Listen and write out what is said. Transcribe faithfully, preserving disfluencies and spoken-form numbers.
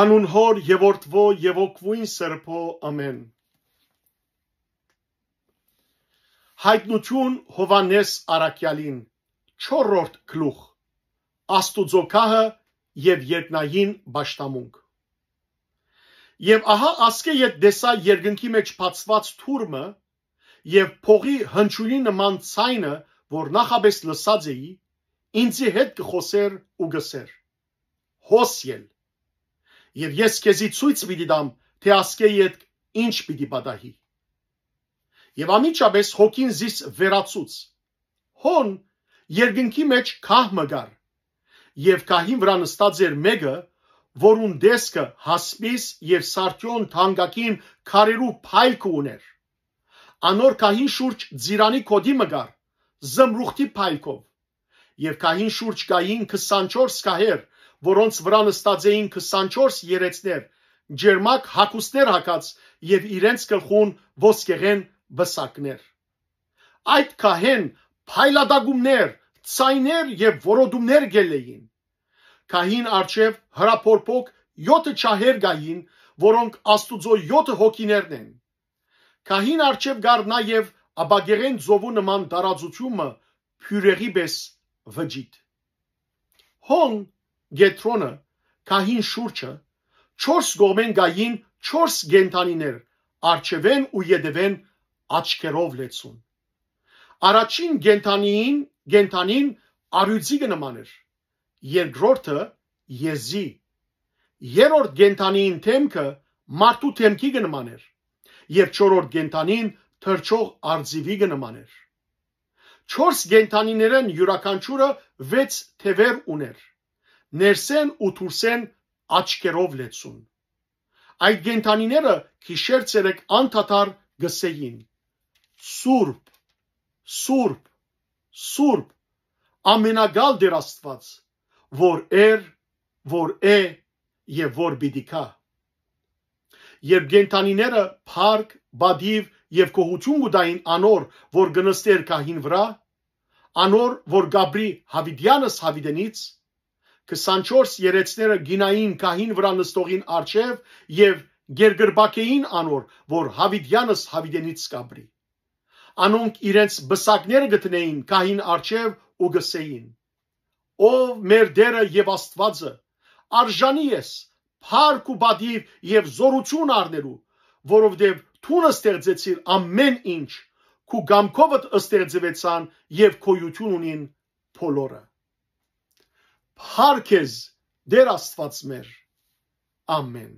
Անուն Հօր եւ Որդւոյ եւ Հոգւոյն Սրբոյ, ամէն։ Յայտնութիւն Յովհաննէս Առաքեալին, չորրորդ գլուխ։ Աստուծոյ գահը եւ երկնային պաշտամունք։ Եւ ահա, ասկէ յետ տեսայ երկնքի մէջ բացուած թուռ մը, եւ փողի հնչիւնի նման ձայնը, որ նախապէս լսած էի, ինծի հետ կը խօսէր ու կ'ըսէր. «Հոս ել, եւ ես քեզի ցոյց պիտի տամ, թէ ասկէ յետ ինչ պիտի պատահի»։ Եւ անմիջապէս հոգին զիս վերացուց։ Հոն երկնքի մէջ գահ մը կար, եւ գահին վրայ նստած էր մէկը, որուն տեսքը հասպիս եւ սարդիոն թանկագին քարերու փայլքը ունէր։ Անոր գահին շուրջ ծիրանի գօտի մը կար, զմրուխտի փայլքով։ Եւ գահին շուրջ կային քսանչորս գահեր, որոնց վրայ նստած էին քսանչորս երեցներ, ճերմակ հագուստներ հագած, եւ իրենց գլխուն ոսկեղէն պսակներ։ Այդ գահէն փայլատակումներ, ձայներ եւ որոտումներ կ'ելլէին։ Գահին առջեւ հրապորփոք յոթը ջահեր կային, որոնք Աստուծոյ յոթը հոգիներն են։ Գահին առջեւ կար նաեւ ապակեղեն ծովու նման տարածութիւն մը, բիւրեղի պէս վճիտ։ Հոն կեդրոնը, գահին շուրջը, չորս կողմէն կային չորս կենդանիներ, առջեւէն ու ետեւէն աչքերով լեցուն։ Առաջին կենդանին, կենդանին առիւծի կը նման էր, երկրորդը՝ եզի, երրորդ կենդանին դէմքը մարդու դէմքի կը նման էր, եւ չորրորդ կենդանին թռչող արծիւի կը նման էր։ Չորս կենդանիներէն իւրաքանչիւրը վեց թեւեր ունէր, ներսէն ու դուրսէն աչքերով լեցուն։ Այդ կենդանիները գիշեր ցերեկ անդադար կ'ըսէին. «Սուրբ, սուրբ, սուրբ, ամենակալ Տէր Աստուած, որ էր, որ է եւ որ պիտի գայ»։ Երբ կենդանիները փառք, պատիւ եւ գոհութիւն կու տային անոր, որ կը նստէր գահին վրայ, անոր, որ կ'ապրի յաւիտեանս յաւիտենից, քսանչորս երեցները կ'իյնային գահին վրայ նստողին առջեւ եւ կ'երկրպագէին անոր, որ յաւիտեանս յաւիտենից կ'ապրի։ Անոնք իրենց պսակները կը դնէին գահին առջեւ ու կ'ըսէին. «Ով մեր Տէրը եւ Աստուածը, արժանի ես փառք ու պատիւ եւ զօրութիւն առնելու, որովհետեւ դուն ստեղծեցիր ամէն ինչ, քու կամքովդ ստեղծուեցան եւ գոյութիւն ունին բոլորը»։ Փառք քեզ, Տէր Աստուած մեր։ Ամէն։